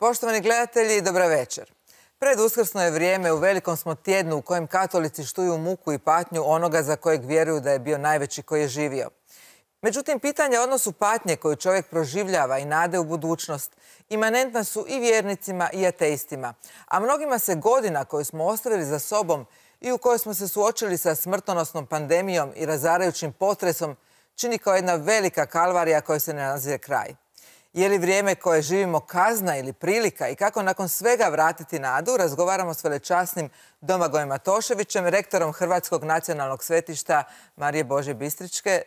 Poštovani gledatelji, dobra večer. Pred uskrsno je vrijeme, u velikom smo tjednu u kojem katolici štuju muku i patnju onoga za kojeg vjeruju da je bio najveći koji je živio. Međutim, pitanja o odnosu patnje koju čovjek proživljava i nade u budućnost imanentna su i vjernicima i ateistima, a mnogima se godina koju smo ostavili za sobom i u kojoj smo se suočili sa smrtonosnom pandemijom i razarajućim potresom čini kao jedna velika kalvarija kojoj se ne nazire kraj. Je li vrijeme koje živimo kazna ili prilika i kako nakon svega vratiti nadu, razgovaramo s velečasnim Domagojem Matoševićem, rektorom Hrvatskog nacionalnog svetišta Marije Božje Bistričke.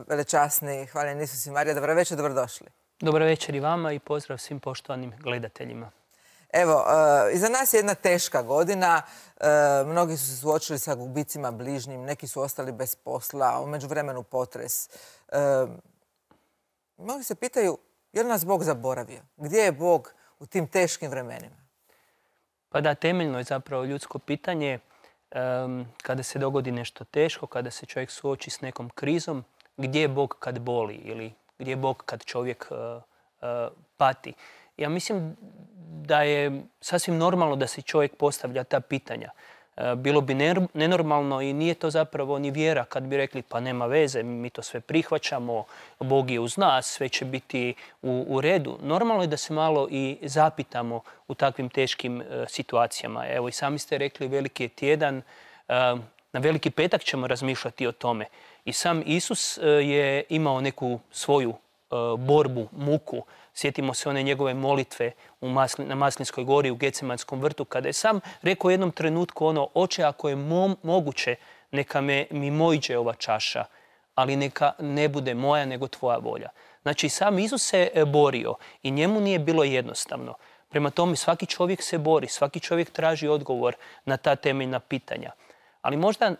Velečasni, hvaljen Isus i Marija, dobro večer, dobrodošli. Dobro večer i vama i pozdrav svim poštovanim gledateljima. Evo, iza nas je jedna teška godina. Mnogi su se suočili sa gubicima bližnjim, neki su ostali bez posla, u međuvremenu potres. Mnogi se pitaju, je li nas Bog zaboravio? Gdje je Bog u tim teškim vremenima? Pa da, temeljno je zapravo ljudsko pitanje kada se dogodi nešto teško, kada se čovjek suoči s nekom krizom, gdje je Bog kad boli ili gdje je Bog kad čovjek pati. Ja mislim da je sasvim normalno da se čovjek postavlja ta pitanja. Bilo bi nenormalno i nije to zapravo ni vjera kad bi rekli pa nema veze, mi to sve prihvaćamo, Bog je uz nas, sve će biti u redu. Normalno je da se malo i zapitamo u takvim teškim situacijama. Evo i sami ste rekli, veliki je tjedan, na Veliki petak ćemo razmišljati o tome. I sam Isus je imao neku svoju borbu, muku. Sjetimo se one njegove molitve na Maslinskoj gori u Gecemanskom vrtu, kada je sam rekao u jednom trenutku ono: Oče, ako je moguće, neka mi moiđe ova čaša, ali neka ne bude moja nego tvoja volja. Znači, sam Isus se borio i njemu nije bilo jednostavno. Prema tome, svaki čovjek se bori, svaki čovjek traži odgovor na ta temeljna pitanja. Ali možda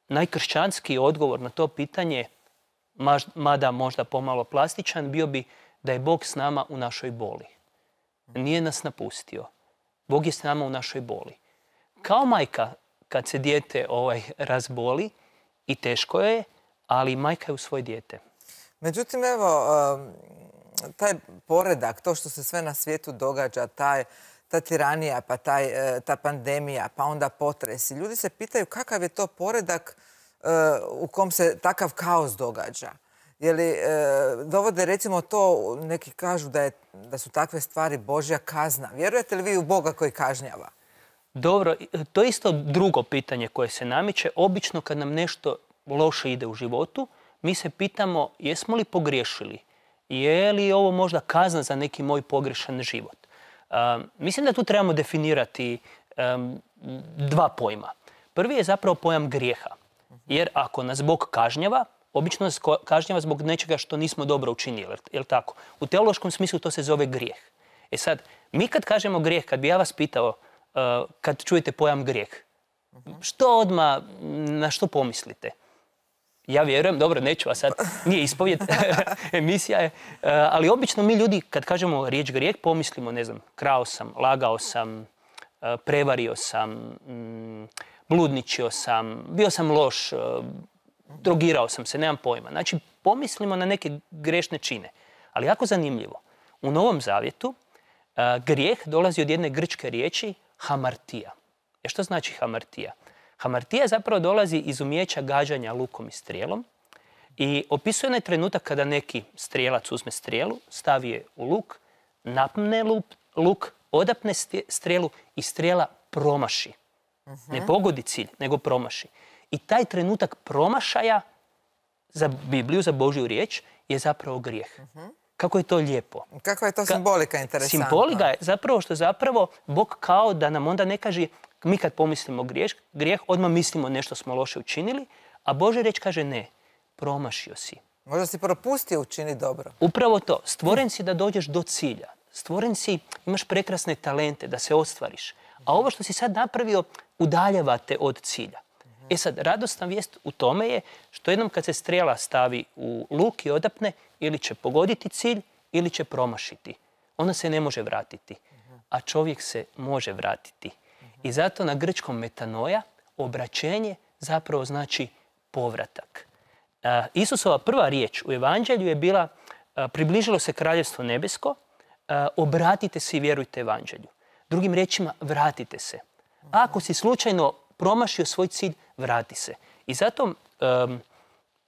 najkršćanski odgovor na to pitanje, mada možda pomalo plastičan, bio bi da je Bog s nama u našoj boli. Nije nas napustio. Bog je s nama u našoj boli. Kao majka kad se dijete razboli i teško je, ali majka je u svoje dijete. Međutim, evo, taj poredak, to što se sve na svijetu događa, ta tiranija, pa ta pandemija, pa onda potresi. Ljudi se pitaju kakav je to poredak u kom se takav kaos događa. Je li dovode recimo to, neki kažu da su takve stvari Božja kazna. Vjerujete li vi u Boga koji kažnjava? Dobro, to je isto drugo pitanje koje se namiče. Obično kad nam nešto loše ide u životu, mi se pitamo jesmo li pogriješili? Je li ovo možda kazna za neki moj pogrešan život? Mislim da tu trebamo definirati dva pojma. Prvi je zapravo pojam grijeha. Jer ako nas Bog kažnjava, obično nas kažnjava zbog nečega što nismo dobro učinili, je li tako? U teološkom smislu to se zove grijeh. E sad, mi kad kažemo grijeh, kad bi ja vas pitao, kad čujete pojam grijeh, što odmah, na što pomislite? Ja vjerujem, dobro, neću, a sad nije ispovjed, emisija je, ali obično mi ljudi, kad kažemo riječ grijeh, pomislimo, ne znam, krao sam, lagao sam, prevario sam, bludničio sam, bio sam loš, drogirao sam se, nemam pojma. Znači, pomislimo na neke grešne čine. Ali jako zanimljivo. U Novom Zavjetu grijeh dolazi od jedne grčke riječi hamartija. Što znači hamartija? Hamartija zapravo dolazi iz umijeća gađanja lukom i strijelom i opisuje onaj trenutak kada neki strijelac uzme strijelu, stavi je u luk, napne luk, odapne strijelu i strijela promaši. Ne pogodi cilj, nego promaši. I taj trenutak promašaja za Bibliju, za Božju riječ, je zapravo grijeh. Kako je to lijepo. Kakva je to simbolika interesantna? Simbolika je zapravo što zapravo Bog kao da nam onda ne kaže, mi kad pomislimo grijeh, odmah mislimo nešto smo loše učinili, a Božja riječ kaže ne, promašio si. Možda si propustio učiniti dobro. Upravo to. Stvoren si da dođeš do cilja. Stvoren si, imaš prekrasne talente da se ostvariš. A ovo što si sad napravio udaljava te od cilja. E sad, radosna vijest u tome je što jednom kad se strijela stavi u luk i odapne, ili će pogoditi cilj, ili će promašiti. Ona se ne može vratiti, a čovjek se može vratiti. I zato na grčkom metanoja obraćenje zapravo znači povratak. Isusova prva riječ u evanđelju je bila približilo se kraljevstvo nebesko, obratite se i vjerujte evanđelju. Drugim riječima, vratite se. Ako si slučajno promašio svoj cilj, vrati se. I zato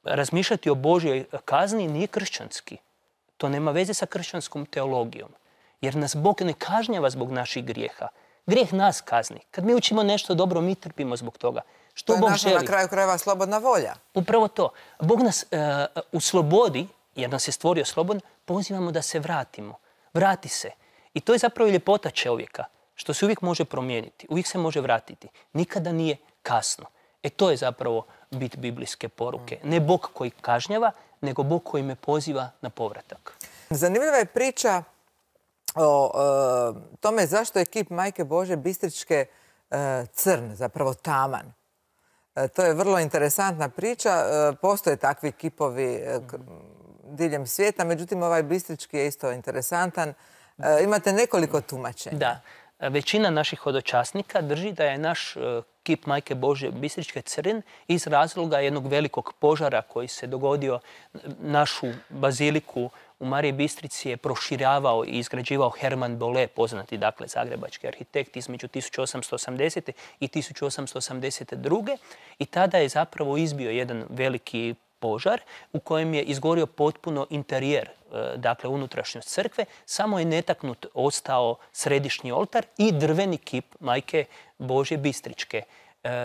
razmišljati o Božjoj kazni nije kršćanski. To nema veze sa kršćanskom teologijom. Jer nas Bog ne kažnjava zbog naših grijeha. Grijeh nas kazni. Kad mi učimo nešto dobro, mi trpimo zbog toga. Što to je Bog naša želi? na kraju krajeva slobodna volja. Upravo to. Bog nas u slobodi, jer nas je stvorio slobodno, pozivamo da se vratimo. Vrati se. I to je zapravo ljepota čovjeka. Što se uvijek može promijeniti. Uvijek se može vratiti. Nikada nije kasno. To je zapravo bit biblijske poruke. Ne Bog koji kažnjava, nego Bog koji me poziva na povratak. Zanimljiva je priča o tome zašto je kip Majke Božje Bistričke crn, zapravo taman. To je vrlo interesantna priča. Postoje takvi kipovi diljem svijeta, međutim ovaj Bistrički je isto interesantan. Imate nekoliko tumačenja. Da. Većina naših hodočasnika drži da je naš kip Majke Božje Bistričke crn iz razloga jednog velikog požara koji se dogodio. Našu baziliku u Mariji Bistrici je proširavao i izgrađivao Herman Bolle, poznati dakle zagrebački arhitekt, između 1880. i 1882. I tada je zapravo izbio jedan veliki požar u kojem je izgorio potpuno interijer, dakle unutrašnjost crkve, samo je netaknut ostao središnji oltar i drveni kip Majke Božje Bistričke.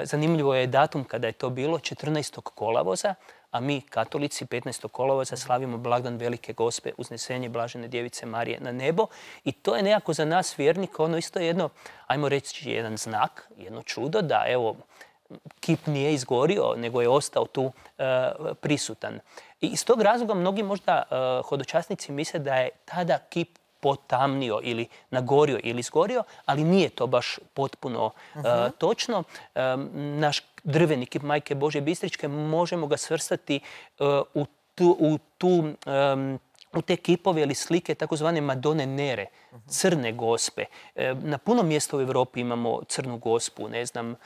Zanimljivo je datum kada je to bilo, 14. kolovoza, a mi katolici 15. kolovoza slavimo blagdan Velike Gospe, uznesenje Blažene Djevice Marije na nebo. I to je nekako za nas vjernika ono isto jedno, ajmo reći, jedan znak, jedno čudo da evo kip nije izgorio, nego je ostao tu prisutan. I iz tog razloga mnogi možda hodočasnici misle da je tada kip potamnio ili nagorio ili izgorio, ali nije to baš potpuno točno. Naš drveni kip Majke Božje Bistričke možemo ga svrstati u te kipove ili slike takozvane Madone Nere, crne gospe. Na puno mjesta u Europi imamo crnu gospu, ne znam,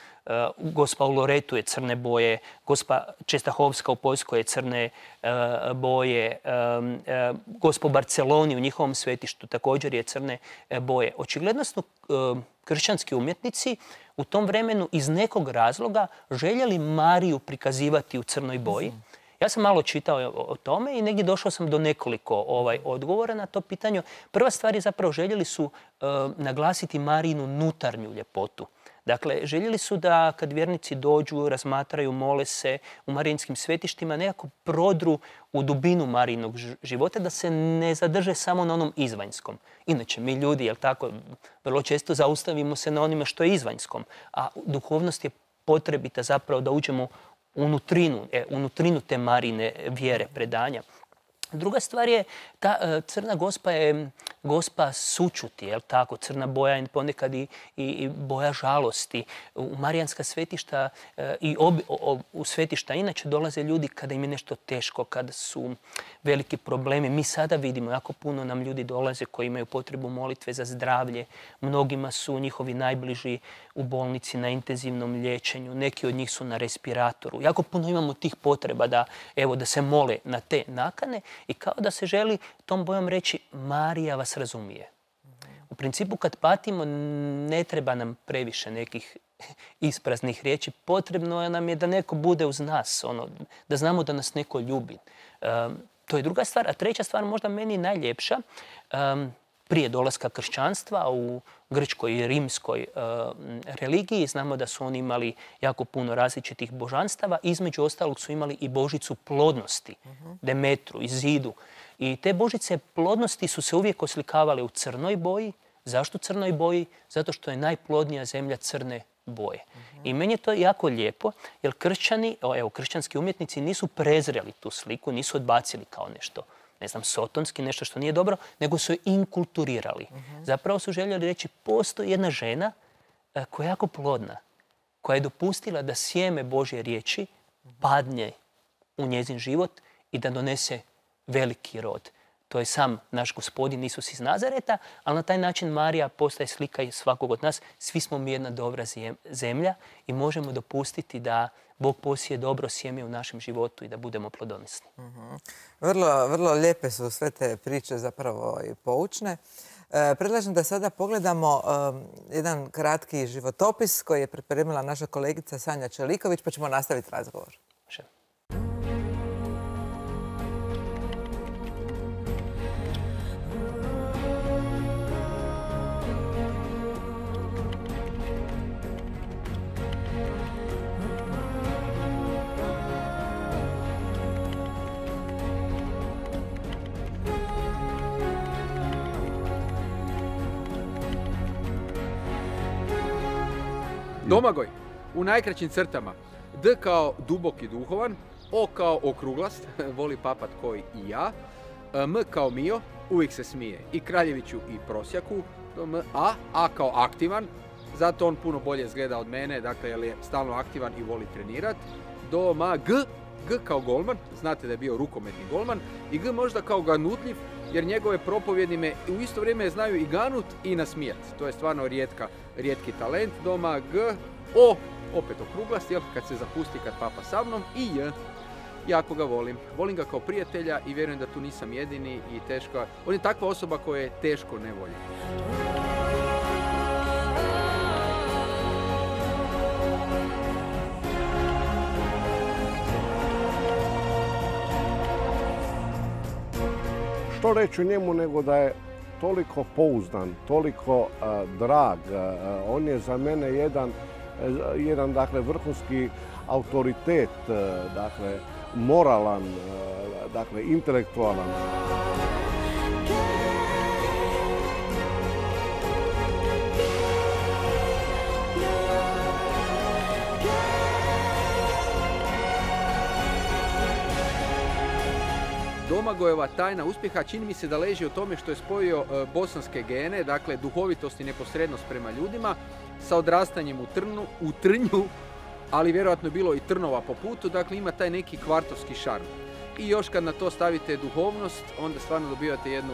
Gospa u Loretu je crne boje, Gospa Čestahovska u Poljskoj je crne boje, Gospa u Barceloni u njihovom svetištu također je crne boje. Očigledno su kršćanski umjetnici u tom vremenu iz nekog razloga željeli Mariju prikazivati u crnoj boji. Ja sam malo čitao o tome i negdje došao sam do nekoliko odgovora na to pitanje. Prva stvar je zapravo željeli su naglasiti Marijinu unutarnju ljepotu. Dakle, željeli su da kad vjernici dođu, razmatraju, mole se u marijinskim svetištima, nekako prodru u dubinu Marijinog života, da se ne zadrže samo na onom izvanjskom. Inače, mi ljudi, jel tako, vrlo često zaustavimo se na onime što je izvanjskom, a duhovnost je potrebita zapravo da uđemo unutrinu te Marijine vjere, predanja. Druga stvar je, ta crna gospa je gospa sućuti, jel tako? Crna boja je ponekad i boja žalosti. U marijanska svetišta i u svetišta inače dolaze ljudi kada im je nešto teško, kada su veliki problemi. Mi sada vidimo, jako puno nam ljudi dolaze koji imaju potrebu molitve za zdravlje. Mnogima su njihovi najbliži u bolnici na intenzivnom liječenju. Neki od njih su na respiratoru. Jako puno imamo tih potreba da se mole na te nakane i kao da se želi tom bojom reći Marija vas razumije. U principu kad patimo ne treba nam previše nekih ispraznih riječi. Potrebno nam je da neko bude uz nas, da znamo da nas neko ljubi. To je druga stvar. A treća stvar, možda meni najljepša, prije dolaska kršćanstva u grčkoj i rimskoj religiji. Znamo da su oni imali jako puno različitih božanstava. Između ostalog su imali i božicu plodnosti, Demetru, Izidu. I te božice plodnosti su se uvijek oslikavale u crnoj boji. Zašto crnoj boji? Zato što je najplodnija zemlja crne boje. I meni je to jako lijepo, jer kršćanski umjetnici nisu prezreli tu sliku, nisu odbacili kao nešto, ne znam, sotonski, nešto što nije dobro, nego su je inkulturirali. Zapravo su željeli reći, postoji jedna žena koja je jako plodna, koja je dopustila da sjeme Božje riječi padne u njezin život i da donese veliki rod. To je sam naš Gospodin Isus iz Nazareta, ali na taj način Marija postaje slika i svakog od nas. Svi smo mi jedna dobra zemlja i možemo dopustiti da Bog posije dobro sjeme u našem životu i da budemo plodonosni. Vrlo lijepe su sve te priče, zapravo i poučne. Predlažem da sada pogledamo jedan kratki životopis koji je pripremila naša kolegica Sanja Čeliković, pa ćemo nastaviti razgovor. Domagoj, u najkraćim crtama. D kao dubok i duhovan, O kao okruglast, voli papat koji i ja, M kao Mio, uvijek se smije i Kraljeviću i prosjaku, A kao aktivan, zato on puno bolje izgleda od mene, dakle jer je stalno aktivan i voli trenirat. Doma G kao golman, znate da je bio rukometni golman, i G možda kao ganutljiv, jer njegove propovjedi me u isto vrijeme znaju i ganut i nasmijat. To je stvarno rijetki talent. Doma G, O, opet okruglast, jel, kad se zapusti, kad papa sa mnom, i J, jako ga volim. Volim ga kao prijatelja i vjerujem da tu nisam jedini i teško. On je takva osoba koja je teško ne volji. Što reći o njemu nego da je toliko pouzdan, toliko drag. On je za mene jedan dakle, vrhunski autoritet, dakle, moralan, dakle, intelektualan. Domagojeva tajna uspjeha čini mi se da leži u tome što je spojio bosanske gene, dakle duhovitost i neposrednost prema ljudima, sa odrastanjem u Trnju, ali vjerojatno je bilo i trnova po putu, dakle ima taj neki kvartovski šarm. I još kad na to stavite duhovnost, onda stvarno dobivate jednu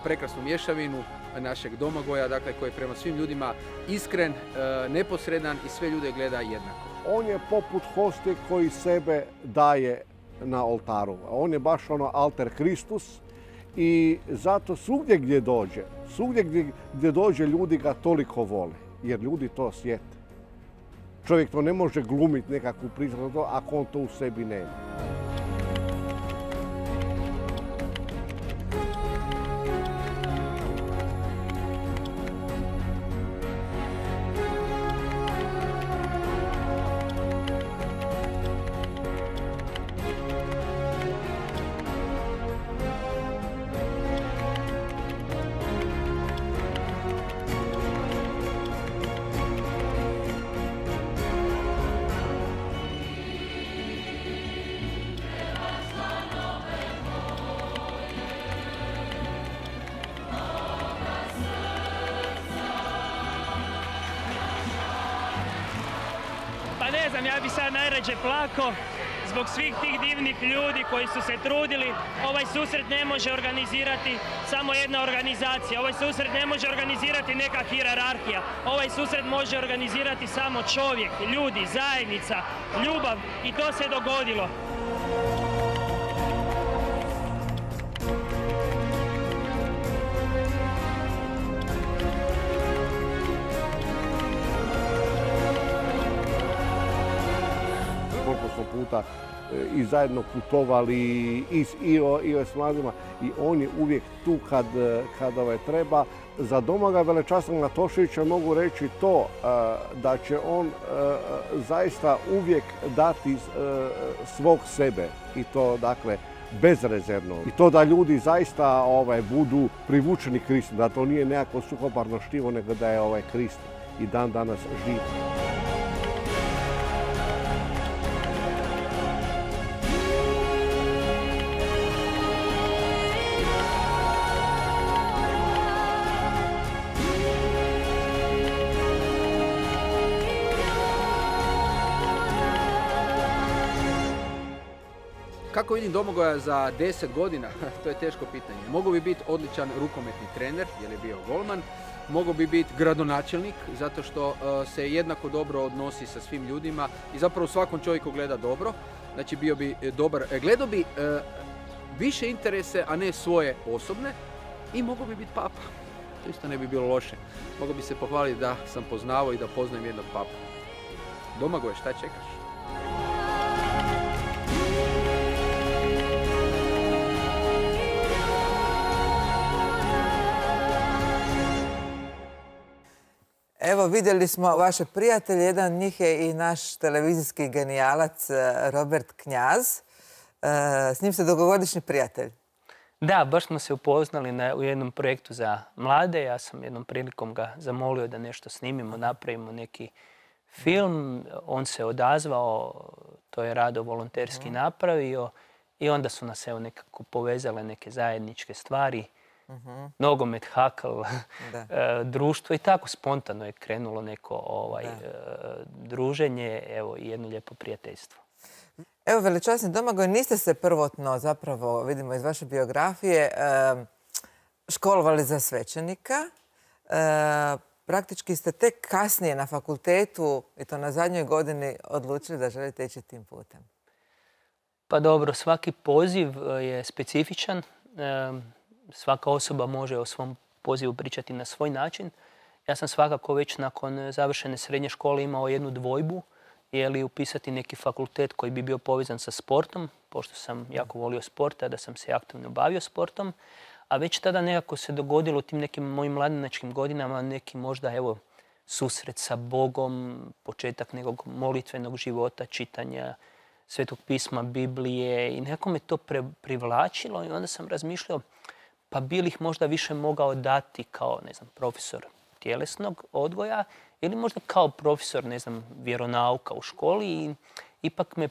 prekrasnu mješavinu našeg Domagoja, dakle koji je prema svim ljudima iskren, neposredan i sve ljude gleda jednako. On je poput hoste koji sebe daje na oltaru. On je baš ono alter Kristus i zato svugdje gdje dođe ljudi ga toliko vole, jer ljudi to osjete. Čovjek to ne može glumiti nekakvu priču ako on to u sebi nema. Pa ne znam, ja bi sad najrađe plako zbog svih tih divnih ljudi koji su se trudili. Ovaj susret ne može organizirati samo jedna organizacija. Ovaj susret ne može organizirati neka hijerarhija. Ovaj susret može organizirati samo čovjek, ljudi, zajednica, ljubav i to se dogodilo. Koliko smo puta i zajedno putovali i s mladima i on je uvijek tu kad treba. Za Domagoja Velečasnog Natoševića mogu reći to da će on zaista uvijek dati svog sebe i to dakle bezrezervno. I to da ljudi zaista budu privučeni Kristu, da to nije nekako suhoparno štivo, nego da je Krist i dan danas živ. Kako vidim Domagoja za 10 godina? To je teško pitanje. Mogao bi biti odličan rukometni trener, jer je bio golman. Mogao bi biti gradonačelnik, zato što se jednako dobro odnosi sa svim ljudima i zapravo svakom čovjeku gleda dobro. Znači bio bi dobar, gledao bi više interese, a ne svoje osobne. I mogao bi biti papa. To isto ne bi bilo loše. Mogu bi se pohvaliti da sam poznavao i da poznajem jednog papu. Domagoj, šta čekaš? Evo, vidjeli smo vaše prijatelje. Jedan od njih je i naš televizijski genijalac Robert Knjaz. S njim ste dugogodišnji prijatelj. Da, baš smo se upoznali u jednom projektu za mlade. Ja sam jednom prilikom ga zamolio da nešto snimimo, napravimo neki film. On se odazvao, to je rado volonterski napravio i onda su nas evo nekako povezale neke zajedničke stvari. Nogomet, hakl, društvo i tako spontano je krenulo neko druženje, evo i jedno lijepo prijateljstvo. Evo, veličasni Domagoj, niste se prvotno, zapravo vidimo iz vaše biografije, školovali za svećenika. Praktički ste tek kasnije na fakultetu, i to na zadnjoj godini, odlučili da želite ići tim putem. Pa dobro, svaki poziv je specifičan. Svaka osoba može o svom pozivu pričati na svoj način. Ja sam svakako već nakon završene srednje škole imao jednu dvojbu, je li upisati neki fakultet koji bi bio povezan sa sportom, pošto sam jako volio sport, da sam se aktivno bavio sportom. A već tada nekako se dogodilo u tim nekim mojim mladenačkim godinama neki možda evo susret sa Bogom, početak nekog molitvenog života, čitanja Svetog pisma, Biblije i nekako me to privlačilo i onda sam razmišljao pa bi li ih možda više mogao dati kao, ne znam, profesor tjelesnog odgoja ili možda kao profesor, ne znam, vjeronauka u školi i ipak me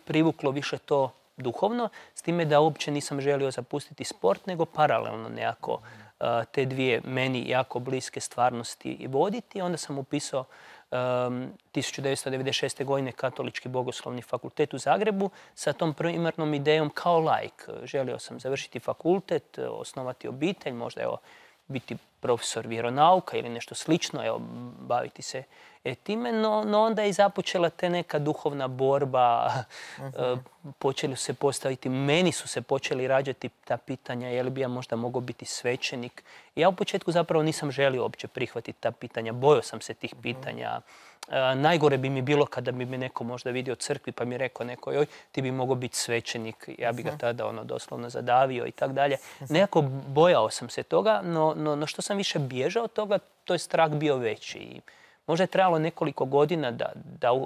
privuklo više to duhovno, s time da uopće nisam želio zapustiti sport, nego paralelno nekako te dvije meni jako bliske stvarnosti i voditi. Onda sam upisao 1996. godine Katolički bogoslovni fakultet u Zagrebu sa tom primarnom idejom kao laik. Želio sam završiti fakultet, osnovati obitelj, možda evo biti profesor vjeronauka ili nešto slično, evo, baviti se time, no onda je i započela te neka duhovna borba, počeli su se postaviti, meni su se počeli rađati ta pitanja, je li bi ja možda mogao biti svećenik. Ja u početku zapravo nisam želio uopće prihvatiti ta pitanja, bojao sam se tih pitanja. Najgore bi mi bilo kada bi me neko možda vidio u crkvi pa mi rekao neko, joj, ti bi mogao biti svećenik, ja bi ga tada doslovno zadavio i tako dalje. Nekako bojao sam se toga, no što sam više bježao od toga, to je strah bio veći. I možda je trebalo nekoliko godina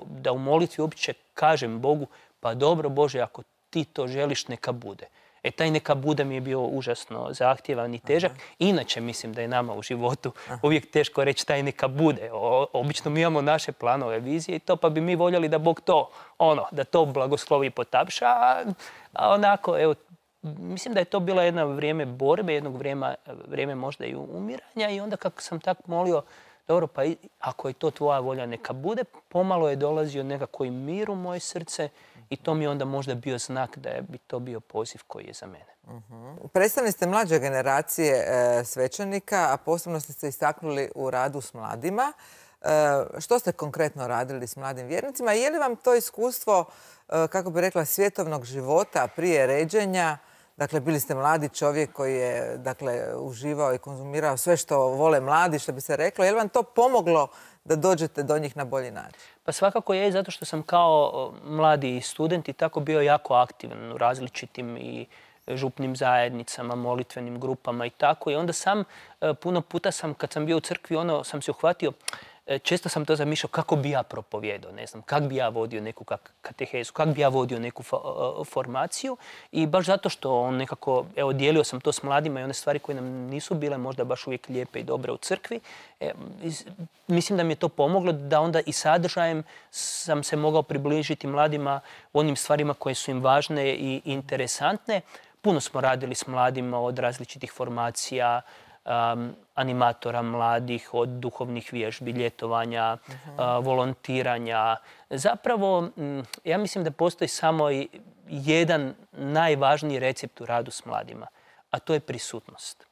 da u molitvi uopće kažem Bogu, pa dobro Bože, ako ti to želiš, neka bude. Taj neka bude mi je bio užasno zahtjevan i težak. Inače mislim da je nama u životu uvijek teško reći taj neka bude. Obično mi imamo naše planove, vizije i to, pa bi mi voljeli da Bog to, da to blagoslovi i potapša. A onako, evo, mislim da je to bilo jedno vrijeme borbe, jednog vrijeme možda i umiranja i onda kako sam tako molio, dobro, pa ako je to tvoja volja, neka bude, pomalo je dolazio nekako i mir u moje srce i to mi je onda možda bio znak da bi to bio poziv koji je za mene. Predstavili ste mlađe generacije svećenika, a posebno ste se istaknuli u radu s mladima. Što ste konkretno radili s mladim vjernicima? Je li vam to iskustvo, kako bi rekla, svjetovnog života prije ređenja? Dakle, bili ste mladi čovjek koji je uživao i konzumirao sve što vole mladi, što bi se reklo. Je li vam to pomoglo da dođete do njih na bolji način? Pa svakako je, zato što sam kao mladi student i tako bio jako aktivan u različitim i župnim zajednicama, molitvenim grupama i tako. I onda sam, puno puta sam, kad sam bio u crkvi, sam se uhvatio, često sam to zamišljao kako bi ja propovjedao, ne znam, kako bi ja vodio neku katehezu, kako bi ja vodio neku formaciju i baš zato što nekako, evo, dijelio sam to s mladima i one stvari koje nam nisu bile možda baš uvijek lijepe i dobre u crkvi. Mislim da mi je to pomoglo da onda i sadržajem sam se mogao približiti mladima onim stvarima koje su im važne i interesantne. Puno smo radili s mladima od različitih formacija, animatora mladih, od duhovnih vježbi, ljetovanja, volontiranja. Zapravo, ja mislim da postoji samo jedan najvažniji recept u radu s mladima, a to je prisutnost.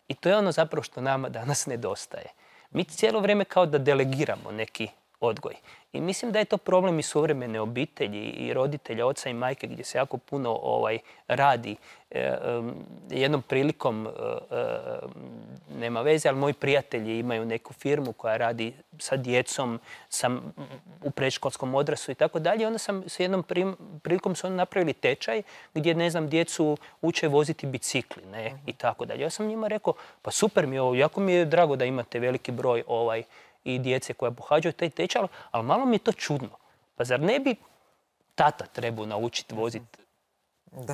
I to je ono zapravo što nama danas nedostaje. Mi cijelo vrijeme kao da delegiramo neki odgoj. I mislim da je to problem i suvremene obitelji i roditelja, oca i majke, gdje se jako puno radi. Jednom prilikom, nema veze, ali moji prijatelji imaju neku firmu koja radi sa djecom, u predškolskom odrastu i tako dalje. Onda sam s jednom prilikom su oni napravili tečaj gdje, ne znam, djecu uče voziti bicikli, ne, i tako dalje. Ja sam njima rekao, pa super mi je ovo, jako mi je drago da imate veliki broj i djece koja pohađaju taj tečaj, ali malo mi je to čudno. Pa zar ne bi tata trebao naučiti voziti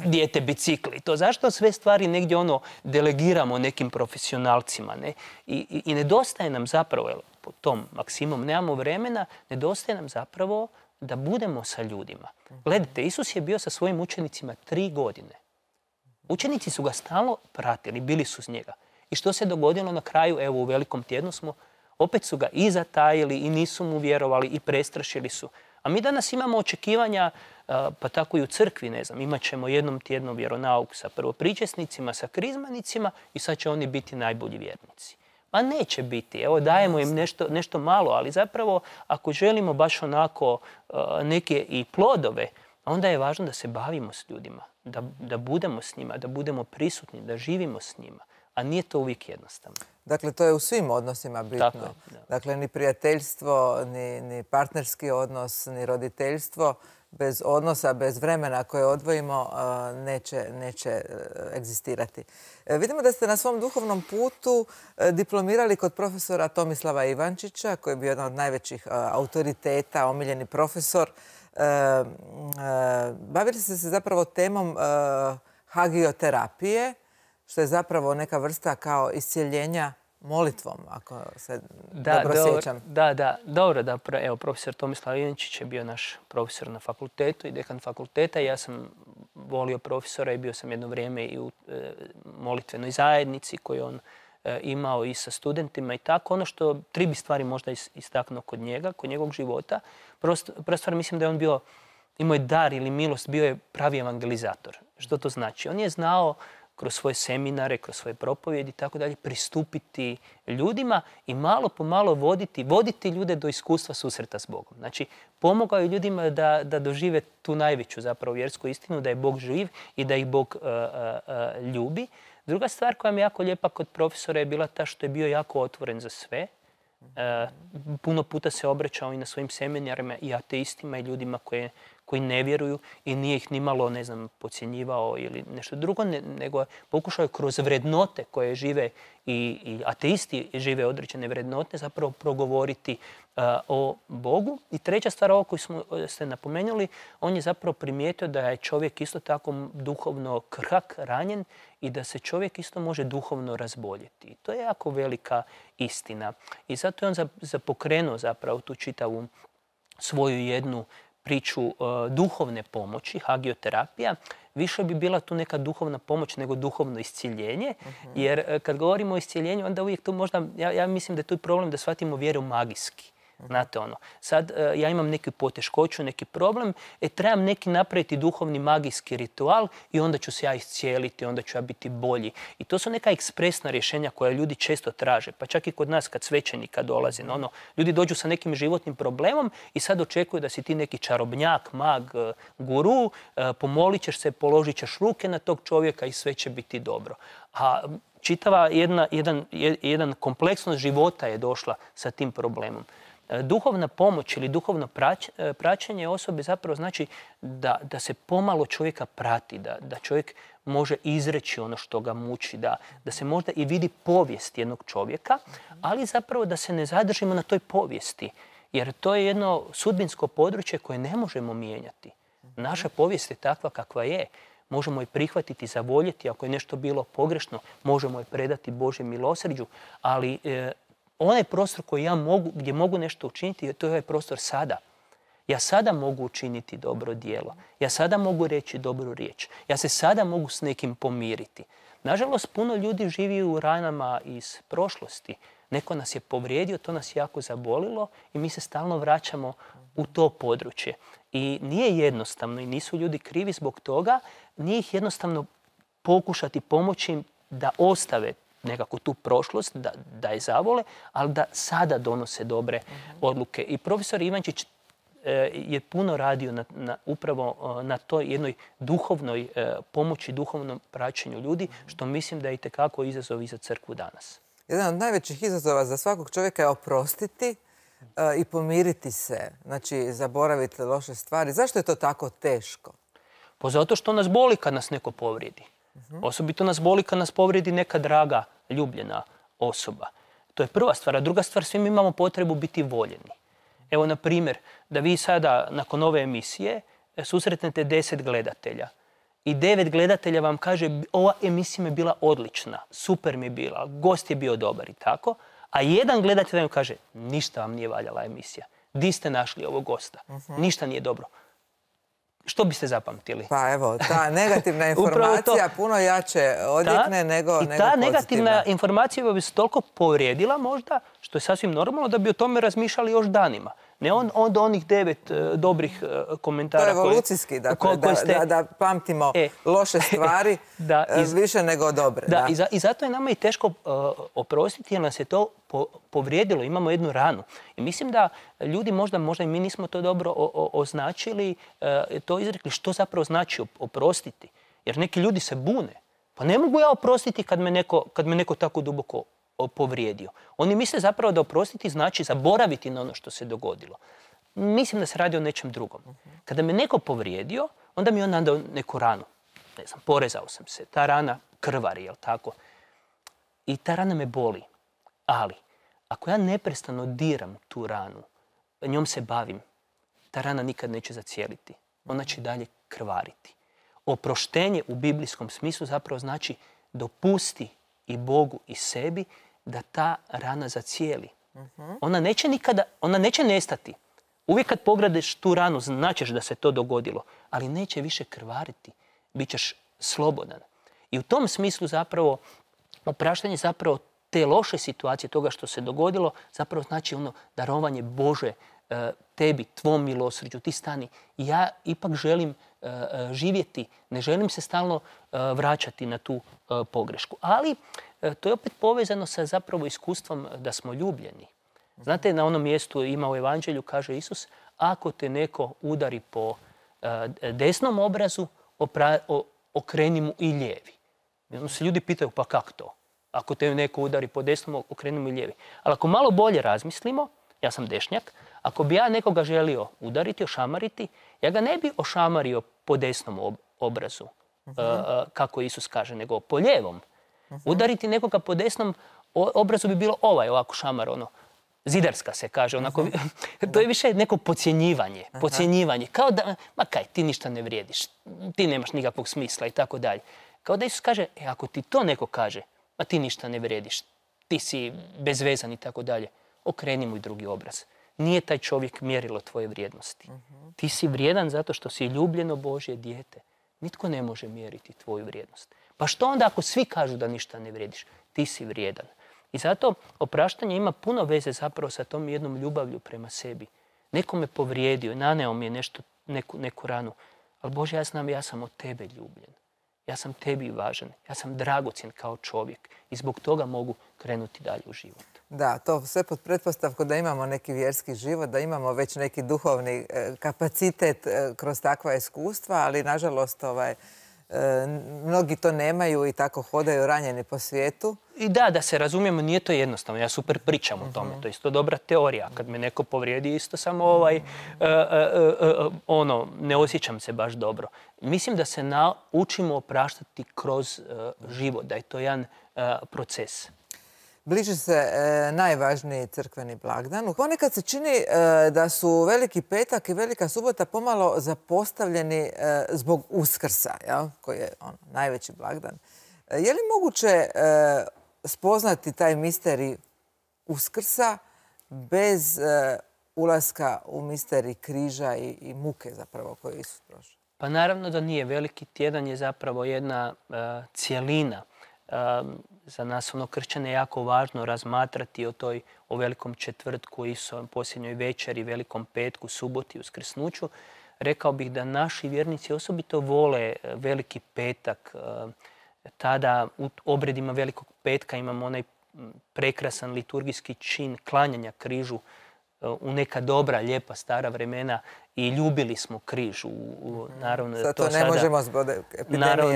dijete bicikli? To zašto sve stvari negdje delegiramo nekim profesionalcima, ne? I nedostaje nam zapravo, po tom maksimom nemamo vremena, nedostaje nam zapravo da budemo sa ljudima. Gledajte, Isus je bio sa svojim učenicima 3 godine. Učenici su ga stalno pratili, bili su s njega. I što se dogodilo na kraju, evo u Velikom tjednu opet su ga i zatajili i nisu mu vjerovali i prestrašili su. A mi danas imamo očekivanja, pa tako i u crkvi, ne znam, imat ćemo jednom tjedno vjeronauk sa prvopričesnicima, sa krizmanicima i sad će oni biti najbolji vjernici. Ma neće biti, evo dajemo im nešto malo, ali zapravo ako želimo baš onako neke i plodove, onda je važno da se bavimo s ljudima, da budemo s njima, da budemo prisutni, da živimo s njima. A nije to uvijek jednostavno. Dakle, to je u svim odnosima bitno. Tako je, da. Dakle, ni prijateljstvo, ni partnerski odnos, ni roditeljstvo, bez odnosa, bez vremena koje odvojimo, neće egzistirati. Vidimo da ste na svom duhovnom putu diplomirali kod profesora Tomislava Ivančića, koji je bio jedan od najvećih autoriteta, omiljeni profesor. Bavili ste se zapravo temom hagioterapije, što je zapravo neka vrsta kao iscjeljenja molitvom, ako se dobro sjećam. Da. Dobro, da. Evo, profesor Tomislav Ivančić je bio naš profesor na fakultetu i dekan fakulteta. Ja sam volio profesora i bio sam jedno vrijeme i u molitvenoj zajednici koju on imao i sa studentima i tako. Ono što 3 bi stvari možda istaknuo kod njega, kod njegovog života. Prva stvar, mislim da je on imao je dar ili milost, bio je pravi evangelizator. Što to znači? On je znao kroz svoje seminare, kroz svoje propovjedi i tako dalje, pristupiti ljudima i malo po malo voditi ljude do iskustva susreta s Bogom. Znači, pomogao je ljudima da dožive tu najveću zapravo vjersku istinu, da je Bog živ i da ih Bog ljubi. Druga stvar koja mi je jako lijepa kod profesora je bila ta što je bio jako otvoren za sve. Puno puta se obraćao i na svojim seminarima i ateistima i ljudima koji ne vjeruju i nije ih nimalo, ne znam, podcjenjivao ili nešto drugo, nego pokušao je kroz vrednote koje žive i ateisti žive određene vrednote zapravo progovoriti o Bogu. I treća stvar, ovo koju ste napomenuli, on je zapravo primijetio da je čovjek isto tako duhovno krhak, ranjen i da se čovjek isto može duhovno razboljeti. I to je jako velika istina. I zato je on pokrenuo zapravo tu čitavu svoju jednu priču duhovne pomoći, hagioterapija. Više bi bila tu neka duhovna pomoć nego duhovno iscjeljenje. Jer kad govorimo o iscjeljenju, onda uvijek tu možda, ja mislim da je tu problem da shvatimo vjeru magijski. Znate sad ja imam neku poteškoću, neki problem, trebam neki napraviti duhovni magijski ritual i onda ću se ja iscijeliti, onda ću ja biti bolji. I to su neka ekspresna rješenja koja ljudi često traže, pa čak i kod nas kad svećenika dolazi. Ljudi dođu sa nekim životnim problemom i sad očekuju da si ti neki čarobnjak, mag, guru, pomolit ćeš se, položit ćeš ruke na tog čovjeka i sve će biti dobro. A čitava jedan kompleksnost života je došla sa tim problemom. Duhovna pomoć ili duhovno praćenje osobe zapravo znači da se pomalo čovjeka prati, da čovjek može izreći ono što ga muči, da se možda i vidi povijest jednog čovjeka, ali zapravo da se ne zadržimo na toj povijesti. Jer to je jedno sudbinsko područje koje ne možemo mijenjati. Naša povijest je takva kakva je. Možemo je prihvatiti, zavoljeti, ako je nešto bilo pogrešno, možemo je predati Božjem milosrđu, ali onaj prostor koji ja mogu, gdje mogu nešto učiniti, to je ovaj prostor sada. Ja sada mogu učiniti dobro djelo. Ja sada mogu reći dobru riječ. Ja se sada mogu s nekim pomiriti. Nažalost, puno ljudi živi u ranama iz prošlosti. Neko nas je povrijedio, to nas jako zabolilo i mi se stalno vraćamo u to područje. I nije jednostavno i nisu ljudi krivi zbog toga. Nije ih jednostavno pokušati pomoći im da ostave nekako tu prošlost, da je zavole, ali da sada donose dobre odluke. I profesor Ivančić je puno radio upravo na toj jednoj duhovnoj pomoći, duhovnom praćenju ljudi, što mislim da je itekako izazov i za crkvu danas. Jedan od najvećih izazova za svakog čovjeka je oprostiti i pomiriti se, znači zaboraviti loše stvari. Zašto je to tako teško? Pa zato što nas boli kad nas neko povrijedi. Osobito nas boli kad nas povrijedi neka draga, ljubljena osoba. To je prva stvar. A druga stvar, svi mi imamo potrebu biti voljeni. Evo, na primjer, da vi sada, nakon ove emisije, susretnete 10 gledatelja. I 9 gledatelja vam kaže, ova emisija mi je bila odlična, super mi je bila, gost je bio dobar i tako. A jedan gledatelj vam kaže, ništa vam nije valjala emisija. Di ste našli ovog gosta? Ništa nije dobro. Što biste zapamtili? Pa evo, ta negativna informacija puno jače odjekne nego pozitivna. I ta negativna informacija bi se toliko povrijedila možda, što je sasvim normalno, da bi o tome razmišljali još danima. Ne onda onih 9 dobrih komentara. To je evolucijski, dakle, da pamtimo loše stvari više nego dobre. Da, i zato je nama i teško oprostiti jer nas je to povrijedilo. Imamo jednu ranu. I mislim da ljudi možda i mi nismo to dobro označili, to izrekli što zapravo znači oprostiti. Jer neki ljudi se bune. Pa ne mogu ja oprostiti kad me neko tako duboko povrijedio. Oni misle zapravo da oprostiti znači zaboraviti na ono što se dogodilo. Mislim da se radi o nečem drugom. Kada me neko povrijedio, onda mi je on nadao neku ranu. Ne znam, porezao sam se. Ta rana krvari, jel tako? I ta rana me boli. Ali, ako ja neprestano diram tu ranu, njom se bavim, ta rana nikad neće zacijeliti. Ona će dalje krvariti. Oproštenje u biblijskom smislu zapravo znači dopusti i Bogu i sebi da ta rana zacijeli. Ona neće nestati. Uvijek kad pogledeš tu ranu, značeš da se to dogodilo, ali neće više krvariti. Bićeš slobodan. I u tom smislu zapravo opraštanje zapravo te loše situacije, toga što se dogodilo, zapravo znači ono darovanje Bože tebi, tvom milosrđu. Ti stani. Ja ipak želim živjeti, ne želim se stalno vraćati na tu pogrešku. Ali to je opet povezano sa zapravo iskustvom da smo ljubljeni. Znate, na onom mjestu ima u Evanđelju, kaže Isus, ako te neko udari po desnom obrazu, okreni mu i lijevi. Onda se ljudi pitaju, pa kako to? Ako te neko udari po desnom, okreni mu i lijevi. Ali ako malo bolje razmislimo, ja sam dešnjak, ako bi ja nekoga želio udariti, ošamariti, ja ga ne bi ošamario po desnom obrazu, kako Isus kaže, nego po lijevom. Udariti nekoga po desnom obrazu bi bilo ovako šamar, zidarska se kaže, onako, to je više neko podcjenjivanje. Kao da, ma kaj, ti ništa ne vrijediš, ti nemaš nikakvog smisla i tako dalje. Kao da Isus kaže, ako ti to neko kaže, ma ti ništa ne vrijediš, ti si bezvezan i tako dalje, okreni mu i drugi obraz. Nije taj čovjek mjerilo tvoje vrijednosti. Ti si vrijedan zato što si ljubljeno Božje dijete. Nitko ne može mjeriti tvoju vrijednost. Pa što onda ako svi kažu da ništa ne vrijediš? Ti si vrijedan. I zato opraštanje ima puno veze zapravo sa tom jednom ljubavlju prema sebi. Neko me povrijedio, naneo mi je neku ranu. Ali Bože, ja znam, ja sam od tebe ljubljen. Ja sam tebi važan. Ja sam dragocjen kao čovjek. I zbog toga mogu krenuti dalje u život. Da, to sve pod pretpostavkom da imamo neki vjerski život, da imamo već neki duhovni kapacitet kroz takva iskustva, ali nažalost mnogi to nemaju i tako hodaju ranjeni po svijetu. I da se razumijemo, nije to jednostavno. Ja super pričam o tome. To je isto dobra teorija. Kad me neko povrijedi, isto samo ne osjećam se baš dobro. Mislim da se naučimo opraštati kroz život, da je to jedan proces. Bliži se najvažniji crkveni blagdan. Ponekad se čini da su Veliki petak i Velika subota pomalo zapostavljeni zbog Uskrsa, koji je najveći blagdan. Je li moguće spoznati taj misterij Uskrsa bez ulaska u misterij križa i muke zapravo koju je Isus prošao? Pa naravno da nije. Veliki tjedan je zapravo jedna cjelina. Za nas kršćane je jako važno razmatrati o Velikom četvrtku, posljednjoj večeri, Velikom petku, suboti, uskrsnuću. Rekao bih da naši vjernici osobito vole Veliki petak Tada u obredima Velikog petka imamo onaj prekrasan liturgijski čin klanjanja križu u neka dobra, lijepa, stara vremena i ljubili smo križ. Naravno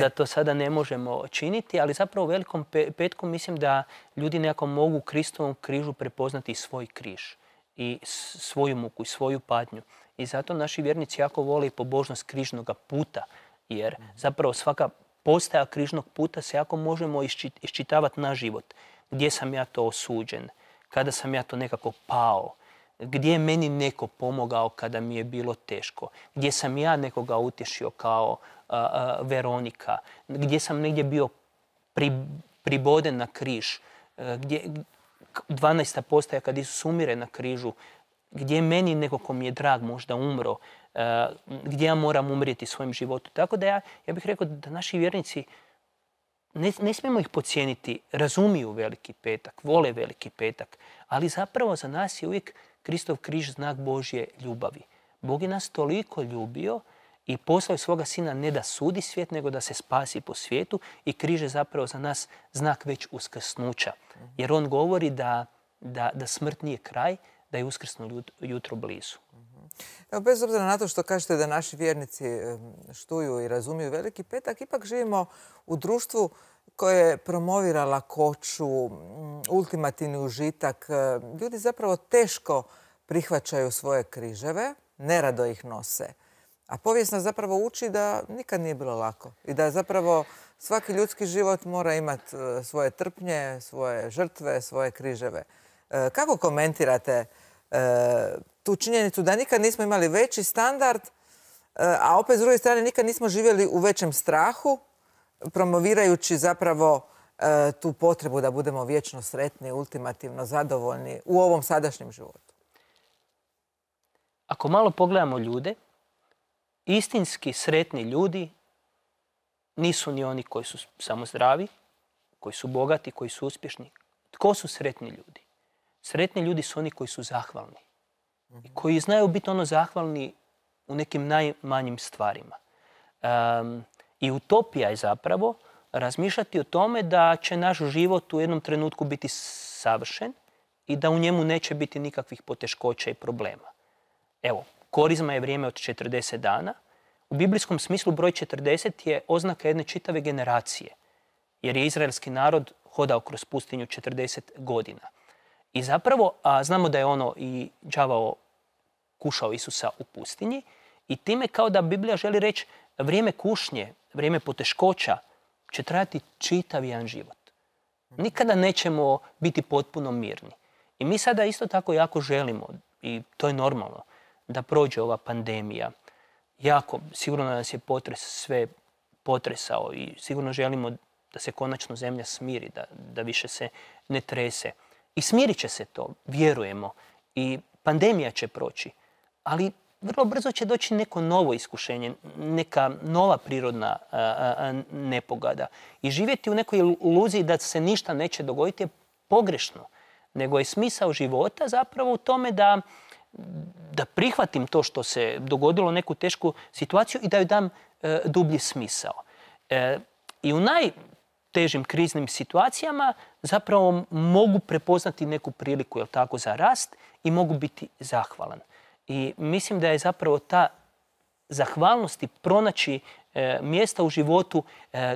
da to sada ne možemo činiti, ali zapravo u Velikom petku mislim da ljudi nekako mogu u Kristovom križu prepoznati svoj križ i svoju muku i svoju patnju. I zato naši vjernici jako vole i pobožnost križnog puta, jer zapravo svaka postaja križnog puta se jako možemo iščitavati na život. Gdje sam ja to osuđen, kada sam ja to nekako pao, gdje je meni neko pomogao kada mi je bilo teško, gdje sam ja nekoga utješio kao Veronika, gdje sam negdje bio priboden na križ, 12. postaja kad Isus umire na križu, gdje je meni neko ko mi je drag možda umro, gdje ja moram umrijeti svojim životom. Tako da ja bih rekao da naši vjernici ne smijemo ih podcijeniti, razumiju Veliki petak, vole Veliki petak, ali zapravo za nas je uvijek Kristov križ znak Božje ljubavi. Bog je nas toliko ljubio i poslao je svoga sina ne da sudi svijet, nego da se spasi po svijetu i križ je zapravo za nas znak već uskrsnuća. Jer on govori da smrt nije kraj, da je uskrsno jutro blizu. Evo, bez obzira na to što kažete da naši vjernici štuju i razumiju Veliki petak, ipak živimo u društvu koje promovira lakoću, ultimativni užitak. Ljudi zapravo teško prihvaćaju svoje križeve, nerado ih nose. A povijest nas zapravo uči da nikad nije bilo lako i da zapravo svaki ljudski život mora imati svoje trpnje, svoje žrtve, svoje križeve. Kako komentirate tu činjenicu da nikad nismo imali veći standard, a opet s druge strane nikad nismo živjeli u većem strahu, promovirajući zapravo tu potrebu da budemo vječno sretni, ultimativno zadovoljni u ovom sadašnjem životu? Ako malo pogledamo ljude, istinski sretni ljudi nisu ni oni koji su samo zdravi, koji su bogati, koji su uspješni. Tko su sretni ljudi? Sretni ljudi su oni koji su zahvalni. I koji znaju biti zahvalni u nekim najmanjim stvarima. I utopija je zapravo razmišljati o tome da će naš život u jednom trenutku biti savršen i da u njemu neće biti nikakvih poteškoća i problema. Evo, korizma je vrijeme od 40 dana. U biblijskom smislu broj 40 je oznaka jedne čitave generacije, jer je izraelski narod hodao kroz pustinju 40 godina. I zapravo znamo da je i đavao kušao Isusa u pustinji i time kao da Biblija želi reći vrijeme kušnje, vrijeme poteškoća će trajati čitav jedan život. Nikada nećemo biti potpuno mirni. I mi sada isto tako jako želimo, i to je normalno, da prođe ova pandemija. Sigurno nas je potres sve potresao i sigurno želimo da se konačno zemlja smiri, da više se ne trese. I smirit će se to, vjerujemo. I pandemija će proći. Ali vrlo brzo će doći neko novo iskušenje, neka nova prirodna nepogoda. I živjeti u nekoj iluziji da se ništa neće dogoditi je pogrešno. Nego je smisao života zapravo u tome da prihvatim to što se dogodilo, neku tešku situaciju i da joj dam dublji smisao. I u najtežim kriznim situacijama zapravo mogu prepoznati neku priliku, jel tako, za rast i mogu biti zahvalan. I mislim da je zapravo ta zahvalnost i pronaći mjesta u životu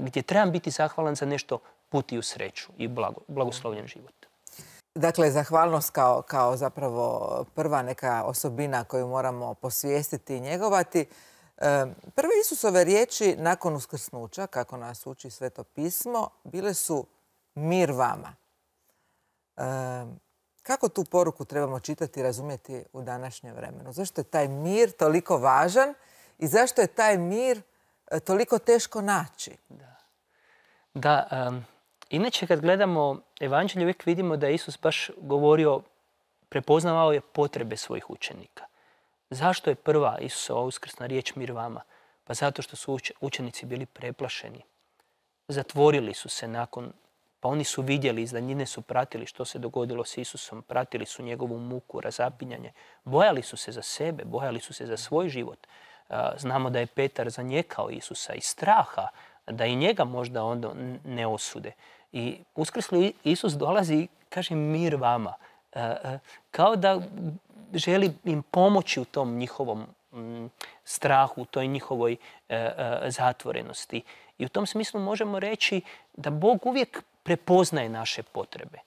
gdje trebam biti zahvalan za nešto put i u sreću i blagoslovljen život. Dakle, zahvalnost kao zapravo prva neka osobina koju moramo posvijestiti i njegovati. Prve Isusove riječi nakon uskrsnuća, kako nas uči Sveto pismo, bile su mir vama. Kako tu poruku trebamo čitati i razumjeti u današnjem vremenu? Zašto je taj mir toliko važan i zašto je taj mir toliko teško naći? Inače kad gledamo evanđelje uvijek vidimo da je Isus baš govorio, prepoznavao je potrebe svojih učenika. Zašto je prva Isusova uskrsna riječ mir vama? Pa zato što su učenici bili preplašeni. Zatvorili su se pa oni su vidjeli, iz daljine su pratili što se dogodilo s Isusom, pratili su njegovu muku, razapinjanje. Bojali su se za sebe, bojali su se za svoj život. Znamo da je Petar zanijekao Isusa iz straha da i njega možda onda ne osude. I uskrsli Isus dolazi i kaže mir vama. Kao da želi im pomoći u tom njihovom strahu, u toj njihovoj zatvorenosti. I u tom smislu možemo reći da Bog uvijek prepoznaje naše potrebe.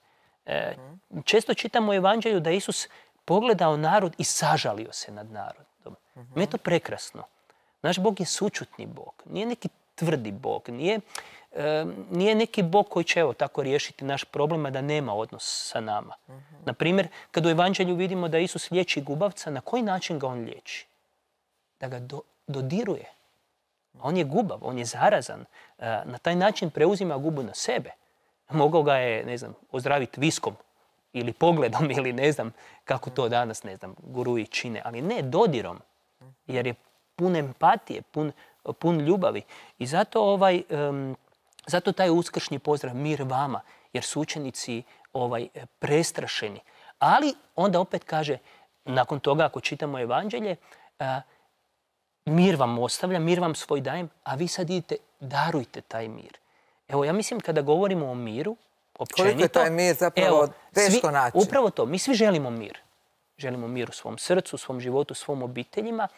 Često čitamo u Evanđelju da Isus pogledao narod i sažalio se nad narodom. Mi je to prekrasno. Naš Bog je sućutni Bog. Nije neki tvrdi Bog. Nije neki Bog koji će tako riješiti naš problem, a da nema odnos sa nama. Naprimjer, kad u Evanđelju vidimo da Isus liječi gubavca, na koji način ga on liječi? Da ga dodiruje. On je gubav, on je zarazan. Na taj način preuzima gubu na sebe. Mogao ga je, ne znam, ozdraviti viskom ili pogledom ili ne znam kako to danas, ne znam, guruji čine. Ali ne dodirom, jer je pun empatije, pun ljubavi. I zato taj uskršnji pozdrav mir vama, jer su učenici prestrašeni. Ali onda opet kaže, nakon toga ako čitamo Evanđelje, mir vam ostavljam, mir vam svoj dajem, a vi sad idite, darujte taj mir. Evo, ja mislim kada govorimo o miru, općenito... Koliko je taj mir zapravo teško naći? Upravo to, mi svi želimo mir. Želimo mir u svom srcu, u svom životu, u svom obiteljima,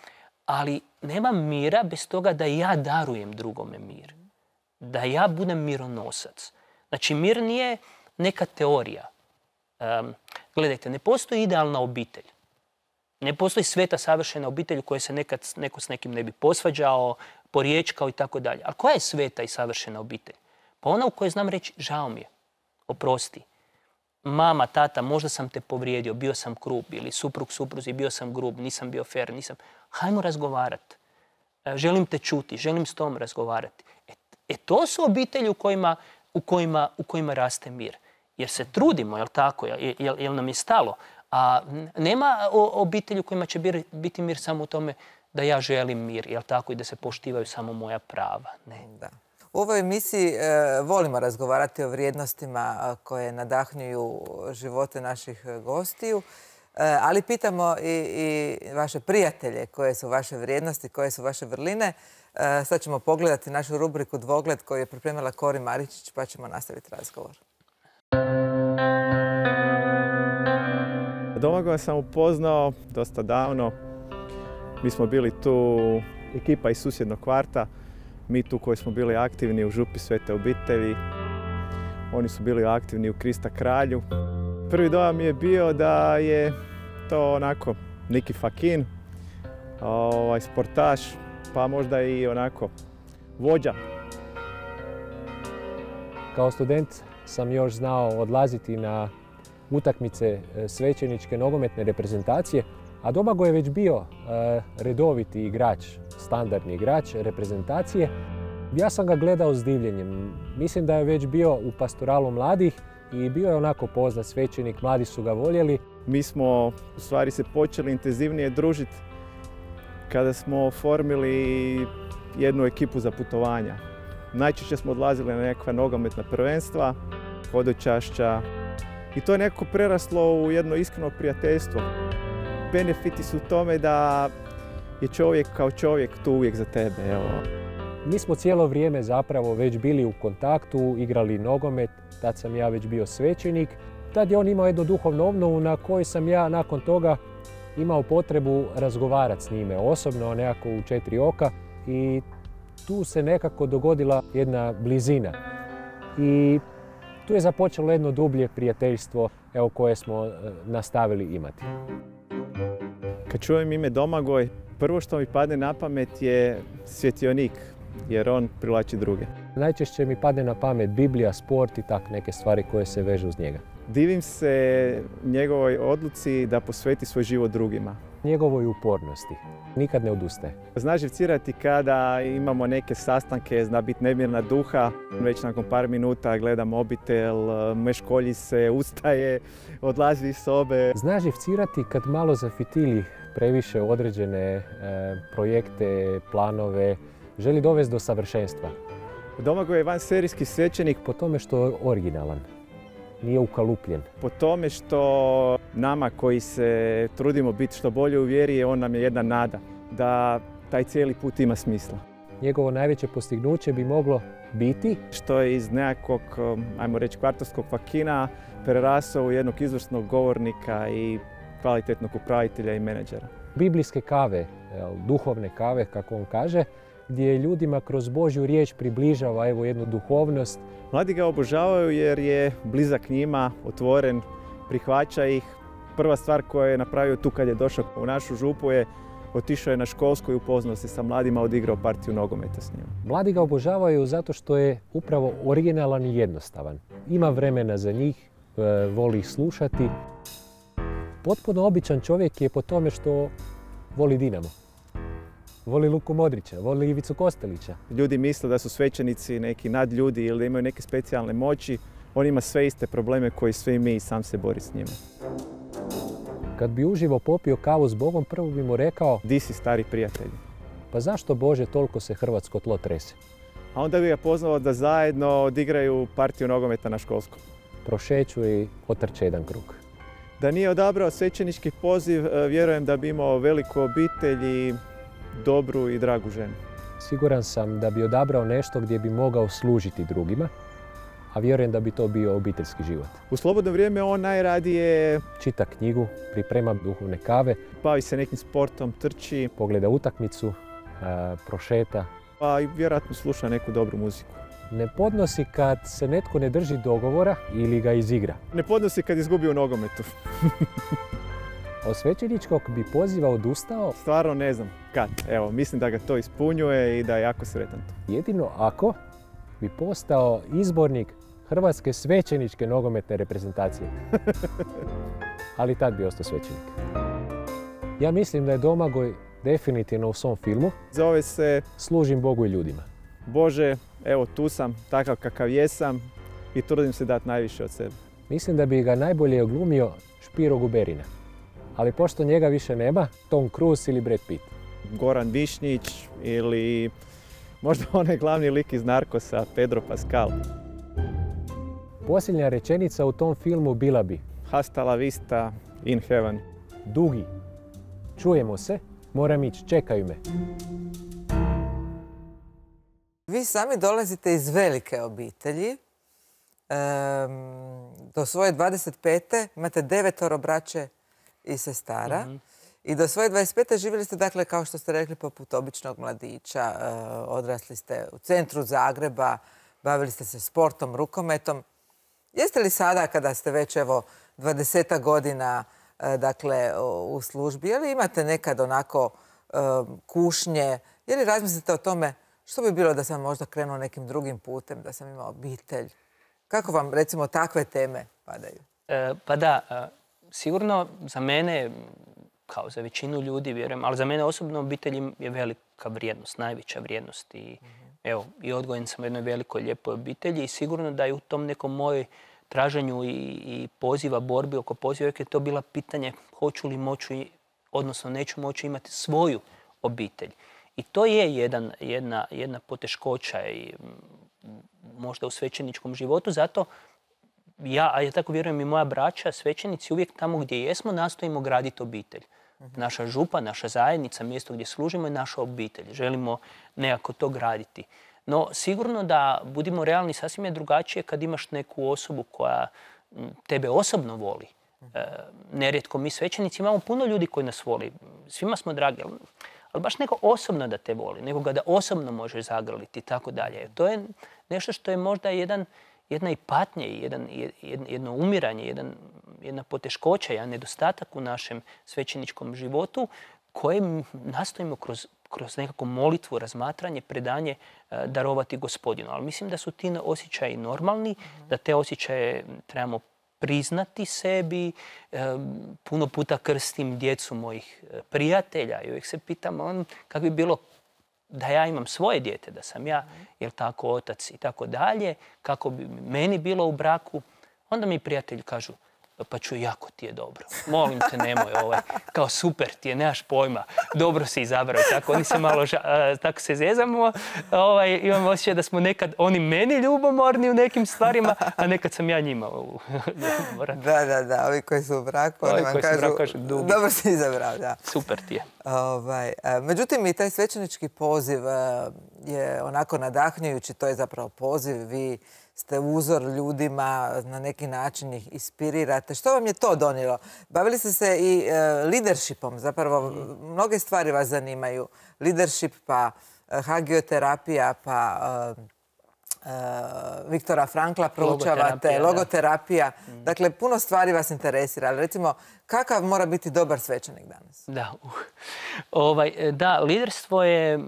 ali nema mira bez toga da ja darujem drugome mir. Da ja budem mironosac. Znači, mir nije neka teorija. Gledajte, ne postoji idealna obitelj. Ne postoji sveta savršena obitelj u kojoj se nekad neko s nekim ne bi posvađao, poriječkao i tako dalje. Ali koja je sveta i savršena obitelj? Pa ona u kojoj znam reći, žao mi je, oprosti. Mama, tata, možda sam te povrijedio, bio sam grub, ili suprug, supruzi, bio sam grub, nisam bio fer, nisam... Hajmo razgovarati. Želim te čuti, želim s tom razgovarati. To su obitelji u kojima raste mir. Jer se trudimo, jel tako, jel nam je stalo. A nema obitelji u kojima će biti mir samo u tome da ja želim mir, jel tako, i da se poštivaju samo moja prava. Ne. Da. U ovoj emisiji volimo razgovarati o vrijednostima koje nadahnjuju živote naših gostiju, ali pitamo i vaše prijatelje koje su vaše vrijednosti, koje su vaše vrline. Sad ćemo pogledati našu rubriku Dvogled koju je pripremila Kori Maričić, pa ćemo nastaviti razgovor. Domagoja sam upoznao dosta davno. Mi smo bili tu ekipa iz susjednog kvarta. Mi tu koji smo bili aktivni u župi Svete obitelji. Oni su bili aktivni u Krista kralju. Prvi dojam je bio da je to onako Niki Fakin, sportaš, pa možda i onako vođa. Kao student sam još znao odlaziti na utakmice svećeničke nogometne reprezentacije, a Domagoj je već bio redoviti igrač, standardni igrač reprezentacije. Ja sam ga gledao s divljenjem. Mislim da je već bio u pastoralu mladih i bio je onako poznat svećenik, mladi su ga voljeli. Mi smo u stvari se počeli intenzivnije družiti kada smo oformili jednu ekipu za putovanja. Najčešće smo odlazili na nekakva nogometna prvenstva, hodočašća i to je nekako preraslo u jedno iskreno prijateljstvo. Benefiti su u tome da je čovjek kao čovjek tu uvijek za tebe. Evo. Mi smo cijelo vrijeme zapravo već bili u kontaktu, igrali nogomet, tad sam ja već bio svećenik. Tad je on imao jednu duhovnu obnovu na kojoj sam ja nakon toga imao potrebu razgovarati s njime osobno, nekako u 4 oka i tu se nekako dogodila jedna blizina. I tu je započelo jedno dublje prijateljstvo koje smo nastavili imati. Kad čujem ime Domagoj, prvo što mi padne na pamet je svjetionik, jer on privlači druge. Najčešće mi padne na pamet Biblija, sport i tak neke stvari koje se vežu uz njega. Divim se njegovoj odluci da posveti svoj život drugima. Njegovoj upornosti. Nikad ne odustaje. Zna živcirati kada imamo neke sastanke, zna biti nemirna duha. Već nakon par minuta gleda mobitel, meškolji se, ustaje, odlazi iz sobe. Zna živcirati kad malo zafitilji previše određene projekte, planove, želi dovesti do savršenstva. Domagoj je vanserijski svećenik po tome što je originalan. Nije ukalupljen. Po tome što nama koji se trudimo biti što bolje u vjeri, on nam je jedna nada da taj cijeli put ima smisla. njegovo najveće postignuće bi moglo biti Što je iz nekakvog, ajmo reći, kvartovskog fakina prerasao u jednog izvrsnog govornika i kvalitetnog upravitelja i menadžera. biblijske kave, duhovne kave, kako on kaže, gdje ljudima kroz Božju riječ približava jednu duhovnost. Mladi ga obožavaju jer je blizak njima, otvoren, prihvaća ih. Prva stvar koju je napravio tu kad je došao u našu župu je otišao je na školsku i upoznao se sa mladima, odigrao partiju nogometa s njima. Mladi ga obožavaju zato što je upravo originalan i jednostavan. Ima vremena za njih, voli ih slušati. Potpuno običan čovjek je po tome što voli Dinamo. Voli Luku Modrića, voli Ivicu Kostelića. Ljudi misle da su svećenici neki nadljudi ili da imaju neke specijalne moći. On ima sve iste probleme koji svi mi i sam se bori s njima. Kad bi uživo popio kavu s Bogom, prvo bi mu rekao: Di si, stari prijatelji? pa zašto Bože toliko se hrvatsko tlo trese? A onda bi ga pozvao da zajedno odigraju partiju nogometa na školskom. Prošeću i otrče jedan krug. Da nije odabrao svećenički poziv, vjerujem da bi imao veliku obitelj i dobru i dragu ženu. Siguran sam da bi odabrao nešto gdje bi mogao služiti drugima, a vjerujem da bi to bio obiteljski život. U slobodno vrijeme on najradije Čita knjigu, priprema duhovne kave, bavi se nekim sportom, trči, pogleda utakmicu, prošeta. pa i vjerojatno sluša neku dobru muziku. Ne podnosi kad se netko ne drži dogovora ili ga izigra. Ne podnosi kad izgubi u nogometu. Od svećeničkog bi poziva odustao Stvarno ne znam kad. Evo, mislim da ga to ispunjuje i da je jako sretan. jedino ako bi postao izbornik Hrvatske svećeničke nogometne reprezentacije. Ali tad bi ostao svećenik. Ja mislim da je Domagoj definitivno u svom filmu Zove se Služim Bogu i ljudima. Bože, evo tu sam, takav kakav jesam i trudim se dati najviše od sebe. Mislim da bi ga najbolje oglumio Špiro Guberina. Ali pošto njega više nema, Tom Cruise ili Brad Pitt. Goran Višnjić ili možda onaj glavni lik iz Narkosa, Pedro Pascal. Posljednja rečenica u tom filmu bila bi: Hasta la vista, in heaven. Dugi, čujemo se, moram ići, čekaju me. Vi sami dolazite iz velike obitelji. Do svoje 25. imate 9 braće i sestara. I do svoje 25. živjeli ste, dakle, kao što ste rekli, poput običnog mladića. Odrasli ste u centru Zagreba, bavili ste se sportom, rukometom. Jeste li sada, kada ste već, evo, 20 godina, dakle, u službi, je li imate nekad onako kušnje, je li razmislite o tome što bi bilo da sam možda krenuo nekim drugim putem, da sam imao obitelj? Kako vam, recimo, takve teme padaju? Pa da, sigurno za mene, kao za većinu ljudi, vjerujem, ali za mene osobno obitelj je velika vrijednost, najveća vrijednost. I, evo, i odgojen sam u jednoj velikoj, lijepoj obitelji i sigurno da je u tom nekom mojoj traženju i poziva, borbi oko poziva, uvijek je to bila pitanje hoću li moći, odnosno neću moći imati svoju obitelj. I to je jedna poteškoća i možda u svećeničkom životu, zato ja, a ja tako vjerujem i moja braća, svećenici, uvijek tamo gdje jesmo nastojimo graditi obitelj. Naša župa, naša zajednica, mjesto gdje služimo je naša obitelj. Želimo nekako to graditi. No, sigurno da, budimo realni, sasvim je drugačije kad imaš neku osobu koja tebe osobno voli. Nerijetko mi svećenici imamo puno ljudi koji nas voli. Svima smo dragi, ali baš neko osobno da te voli, nekoga da osobno možeš zagrliti i tako dalje. To je nešto što je možda jedna i patnja, jedno umiranje, jedna poteškoća, jedan nedostatak u našem svećeničkom životu koje nastojimo kroz nekakvu molitvu, razmatranje, predanje darovati Gospodinu. Ali mislim da su ti osjećaji normalni, da te osjećaje trebamo priznati sebi. Puno puta krstim djecu mojih prijatelja i uvijek se pitam kako bi bilo da ja imam svoje dijete, da sam ja, jel tako, otac i tako dalje, kako bi meni bilo u braku. Onda mi prijatelji kažu, pa čuj, jako ti je dobro. Molim te, nemoj kao super ti je, nemaš pojma, dobro si izabrao. Tako, oni se malo, tako se zezamo, imam osjećaj da smo nekad oni meni ljubomorni u nekim stvarima, a nekad sam ja njima ljubomoran. Da, ovi koji su u braku, oni vam kažu, dobro si izabrao, da. Super ti je. Međutim, i taj svećenički poziv je onako nadahnjujući, to je zapravo poziv, vi ste uzor ljudima, na neki način ih inspirirate. Što vam je to donijelo? Bavili ste se i leadershipom, zapravo mnoge stvari vas zanimaju. Leadership, pa hagioterapija, pa Viktora Frankla proučavate, logoterapija. Dakle, puno stvari vas interesira. Ali recimo, kakav mora biti dobar svećenik danas? Da, liderstvo je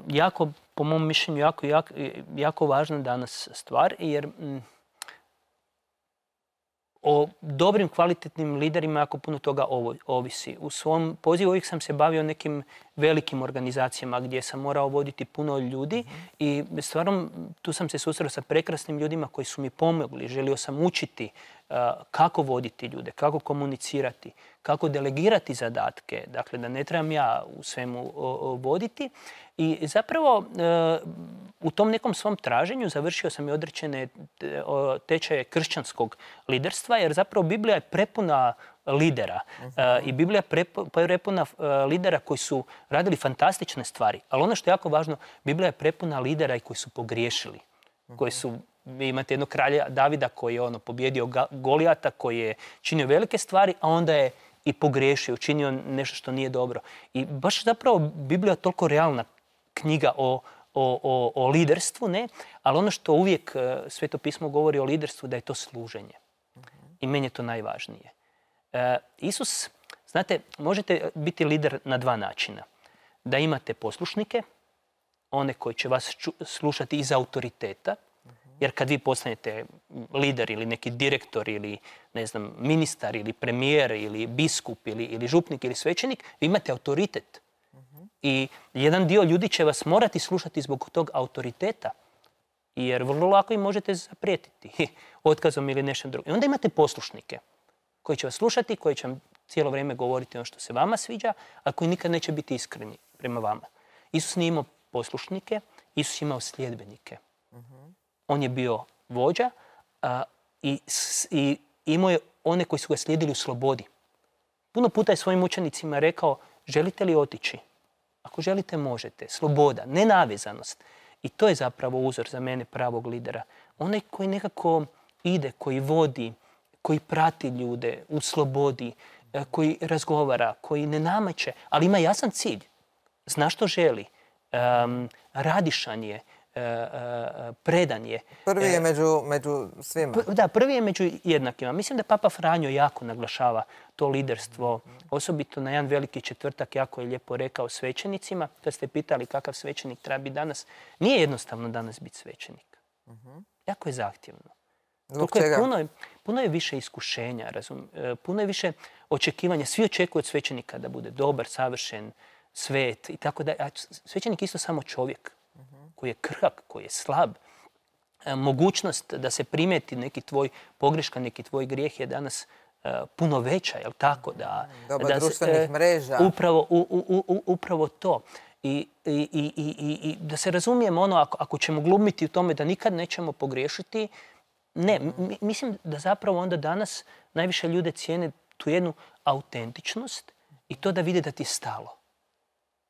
jako, po mom mišljenju, jako važna danas stvar, jer o dobrim, kvalitetnim liderima jako puno toga ovisi. U svom pozivu uvijek sam se bavio nekim velikim organizacijama gdje sam morao voditi puno ljudi i stvarno tu sam se susreo sa prekrasnim ljudima koji su mi pomogli. Želio sam učiti kako voditi ljude, kako komunicirati, kako delegirati zadatke, dakle da ne trebam ja u svemu voditi. I zapravo u tom nekom svom traženju završio sam i određene tečaje kršćanskog liderstva, jer zapravo Biblija je prepuna lidera i Biblija je prepuna lidera koji su radili fantastične stvari. Ali ono što je jako važno, Biblija je prepuna lidera i koji su pogriješili, koji su... Vi imate jednog kralja Davida koji je pobjedio Golijata, koji je činio velike stvari, a onda je i pogriješio, učinio nešto što nije dobro. I baš zapravo Biblija je toliko realna knjiga o liderstvu, ne? Ali ono što uvijek Sveto pismo govori o liderstvu, da je to služenje. I meni je to najvažnije. Isus, znate, možete biti lider na dva načina. Da imate poslušnike, one koji će vas slušati iz autoriteta, jer kad vi postanete lider ili neki direktor ili, ne znam, ministar ili premijer ili biskup ili župnik ili svećenik, vi imate autoritet. I jedan dio ljudi će vas morati slušati zbog tog autoriteta, jer vrlo lako im možete zaprijetiti otkazom ili nešto drugo. I onda imate poslušnike koji će vas slušati, koji će vam cijelo vrijeme govoriti ono što se vama sviđa, a koji nikad neće biti iskreni prema vama. Isus nije imao poslušnike, Isus je imao sljedbenike. On je bio vođa i imao je one koji su ga slijedili u slobodi. Puno puta je svojim učenicima rekao, želite li otići? Ako želite, možete. Sloboda, nenavezanost. I to je zapravo uzor za mene pravog lidera. Onaj koji nekako ide, koji vodi, koji prati ljude u slobodi, koji razgovara, koji ne nameće, ali ima jasan cilj. Zna što želi. Radišan je. Predan je. Prvi je među svima. Da, prvi je među jednakima. Mislim da Papa Franjo jako naglašava to liderstvo. Osobito na jedan veliki četvrtak jako je lijepo rekao svećenicima. Kad ste pitali kakav svećenik treba biti danas, nije jednostavno danas biti svećenik. Jako je zahtjevno. Zbog čega? Puno je više iskušenja, puno je više očekivanja. Svi očekuju od svećenika da bude dobar, savršen, svet i tako da. A svećenik je isto samo čovjek koji je krhak, koji je slab. Mogućnost da se primijeti neki tvoj pogreška, neki tvoj grijeh je danas puno veća, jel tako? Doba društvenih mreža. Upravo to. I da se razumijemo, ako ćemo glumiti u tome da nikad nećemo pogriješiti, ne, mislim da zapravo onda danas najviše ljude cijene tu jednu autentičnost i to da vide da ti je stalo.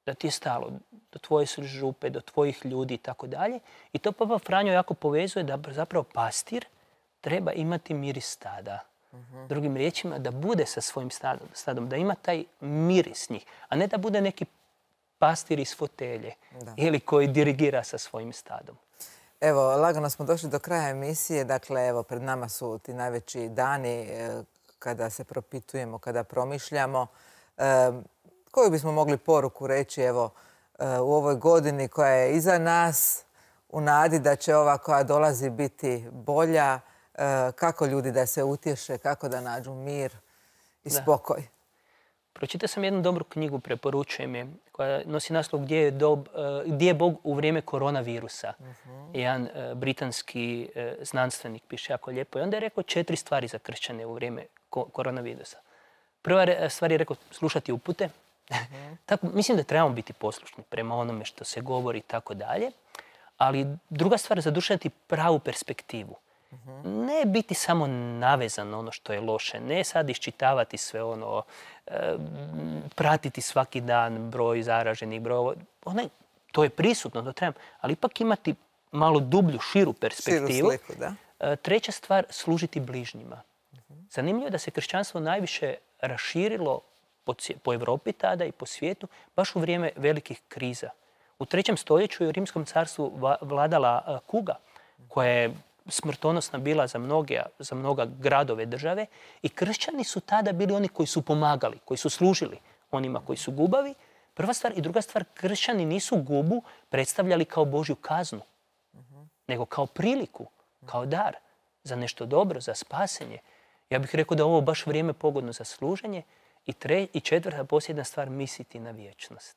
Da ti je stalo do tvoje župe, do tvojih ljudi i tako dalje. I to Papa Franjo jako povezuje da zapravo pastir treba imati miris stada. Drugim riječima, da bude sa svojim stadom, da ima taj miris njih, a ne da bude neki pastir iz fotelje ili koji dirigira sa svojim stadom. Evo, lagano smo došli do kraja emisije. Dakle, evo, pred nama su ti najveći dani kada se propitujemo, kada promišljamo. Koju bismo mogli poruku reći, evo, u ovoj godini koja je iza nas, u nadi da će ova koja dolazi biti bolja, kako ljudi da se utješe, kako da nađu mir i spokoj? Pročitao sam jednu dobru knjigu, preporučujem je, koja nosi naslov Gdje je Bog u vrijeme koronavirusa. Jedan britanski znanstvenik piše jako lijepo. I onda je rekao 4 stvari za kršćane u vrijeme koronavirusa. Prva stvar je rekao slušati upute. Tako, mislim da trebamo biti poslušni prema onome što se govori i tako dalje. Ali druga stvar, zadušati pravu perspektivu. Ne biti samo navezan na ono što je loše. Ne sad iščitavati sve ono, pratiti svaki dan broj zaraženih, to je prisutno, to trebam. Ali ipak imati malo dublju, širu perspektivu. Širu sliku, da. Treća stvar, služiti bližnjima. Zanimljivo je da se kršćanstvo najviše raširilo po Europi tada i po svijetu baš u vrijeme velikih kriza. U 3. stoljeću je u Rimskom carstvu vladala kuga koja je smrtonosna bila za mnoga gradove države i kršćani su tada bili oni koji su pomagali, koji su služili onima koji su gubavi. Prva stvar i druga stvar, kršćani nisu gubu predstavljali kao Božju kaznu, nego kao priliku, kao dar za nešto dobro, za spasenje. Ja bih rekao da je ovo baš vrijeme pogodno za služenje. I četvrta, posljedna stvar, misliti na vječnost.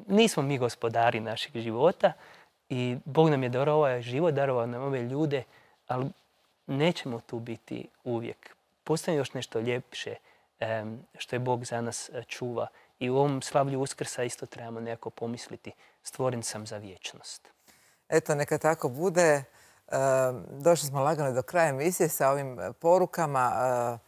Nismo mi gospodari našeg života i Bog nam je darovao ovaj život, darovao nam ove ljude, ali nećemo tu biti uvijek. Postoji još nešto ljepše što je Bog za nas čuva. I u ovom slavlju Uskrsa isto trebamo nekako pomisliti. Stvoren sam za vječnost. Eto, neka tako bude. Došli smo lagano do kraja emisije sa ovim porukama.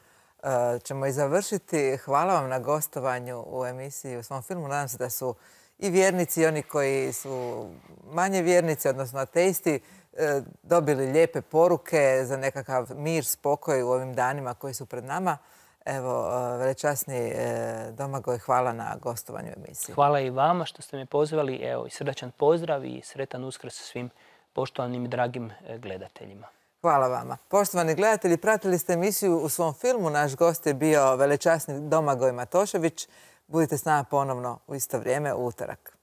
Ćemo i završiti. Hvala vam na gostovanju u emisiji u svom filmu. Nadam se da su i vjernici i oni koji su manje vjernici, odnosno ateisti, dobili lijepe poruke za nekakav mir, spokoj u ovim danima koji su pred nama. Evo, velečasni Domagoj, hvala na gostovanju u emisiji. Hvala i vama što ste me pozvali. Evo, i srdačan pozdrav i sretan Uskrs svim poštovanim i dragim gledateljima. Hvala vama. Poštovani gledatelji, pratili ste emisiju u svom filmu. Naš gost je bio velečasni Domagoj Matošević. Budite s nama ponovno u isto vrijeme u utorak.